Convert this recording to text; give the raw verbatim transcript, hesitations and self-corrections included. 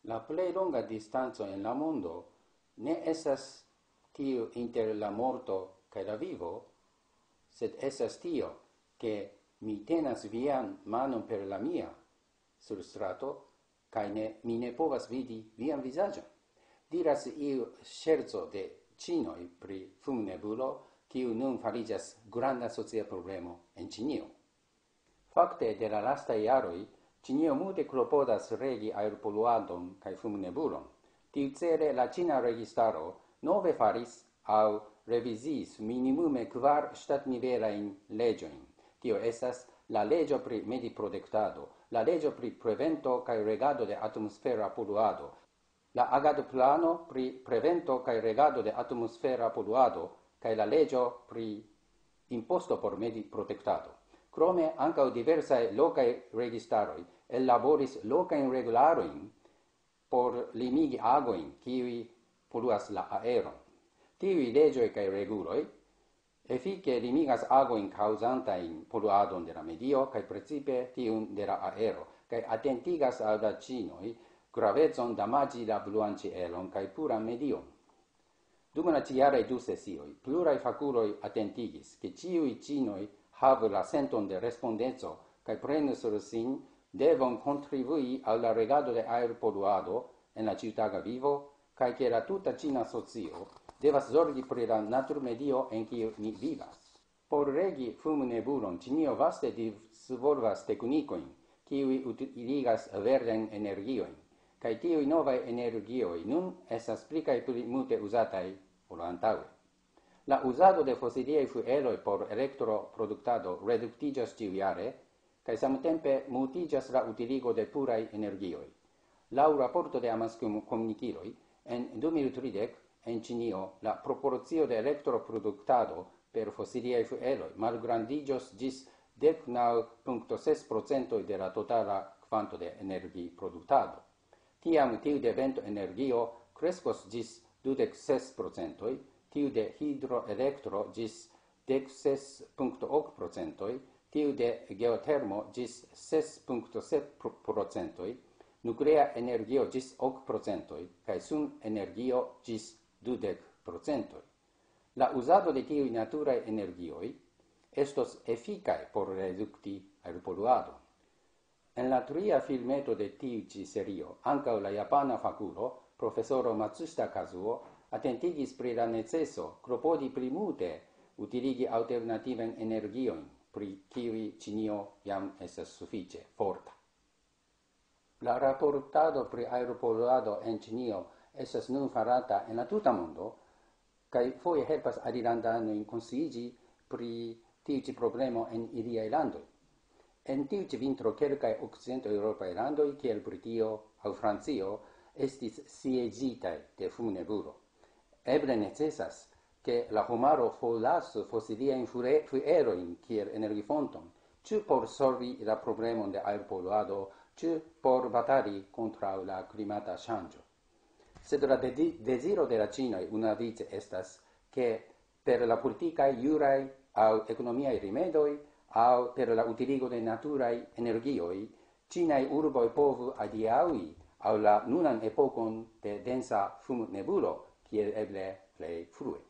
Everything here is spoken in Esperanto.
La plej longa distanco en la mondo ne estas tiu inter la morto kaj la vivo, sed estas tio, ke mi tenas vian manon per la mia sur strato, kaj ne, mi ne povas vidi vian vizaĝon. Diras iu ŝerco de ĉinoj pri fumnebulo, kiu nun fariĝas granda socia problemo en Ĉinio. Fakte, de la lastaj jaroj, Ĉinio multe klopodas regi aerpoluadon kaj fumnebulon. Tiucele la ĉina registaro nove faris aŭ reviziis minimume kvar ŝtatnivelajn leĝojn. Tio estas la leĝo pri mediprotektado, la leĝo pri prevento kaj regado de atmosfera poluado, la agadoplano pri prevento kaj regado de atmosfera poluado kaj la leĝo pri imposto por mediprotektado. Krome ankaŭ diversaj lokaj registaroj ellaboris lokajn regularojn por limigi agojn, kiuj poluas la aeron. Tiuj leĝoj kaj reguloj efike limigas agojn kaŭzantajn poluadon de la medio kaj precipe tiun de la aero, kaj atentigas al la ĉinoj gravecon damaĝi la bluan ĉielon kaj puran medion. Dum la ĉijaraj du sesioj, pluraj fakuloj atentigis, ke ĉiuj ĉinoj havu la senton de respondeco kaj prenu sur sin devon kontribui al la regado de aerpoluado en la ĉiutaga vivo, kaj ke la tuta ĉina socio devas zorgi pri la naturmedio, en kiu ni vivas. Por regi fumnebulon, Ĉinio vaste disvolvas teknikojn, kiuj utiligas verdajn energiojn, kaj tiuj novaj energioj nun estas pli kaj pli multe uzataj ol antaŭe. La uzado de fosiliaj fueloj por elektroproduktado reduktiĝas ĉiujare, kaj samtempe multiĝas la utiligo de puraj energioj. Laŭ raporto de amaskomunikiloj, en du mil tridek en Ĉinio la proporcio de elektroproduktado per fosiliaj fueloj malgrandiĝos ĝis dek naŭ punkto ses procentoj de la totala kvanto de energiproduktado. Tiam tiu de ventoenergio kreskos ĝis dudek ses procentoj, tiu de hidroelektro ĝis dek ses punkto ok procentoj, tiu de geotermo ĝis ses punkto sep procentoj, nuklea energio ĝis ok procentoj, kaj sunenergio ĝis dudek procentoj. La uzado de tiuj naturaj energioj estos efikaj por redukti aerpoluadon. En la tria filmeto de tiu ĉi serio, ankaŭ la japana fakulo, profesoro Matsushita Kazuo, atentigis pri la neceso klopodi pli multe utiligi alternativajn energiojn, pri kiuj Ĉinio jam estas sufiĉe forta. La raportado pri aerpoluado en Ĉinio estas nun farata en la tuta mondo, kaj foje helpas alilandanojn konsciiĝi pri tiu ĉi problemo en iliaj landoj. En tiu ĉi vintro kelkaj okcidenteŭropaj landoj, kiel Britio aŭ Francio, estis sieĝitaj de fumnebulo. Eble necesas, ke la homaro forlasu fosiliajn fure-, fuelojn kiel energifonton, ĉu por solvi la problemon de aerpoluado, ĉu por batali kontraŭ la klimata ŝanĝo. Sed la dedi-, deziro de la ĉinoj unuavice estas, ke per la politikaj, juraj aŭ ekonomiaj rimedoj aŭ per la utiligo de naturaj energioj, ĉinaj urboj povu adiaŭi al la nunan epokon de densa fumnebulo, kiel eble plej frue.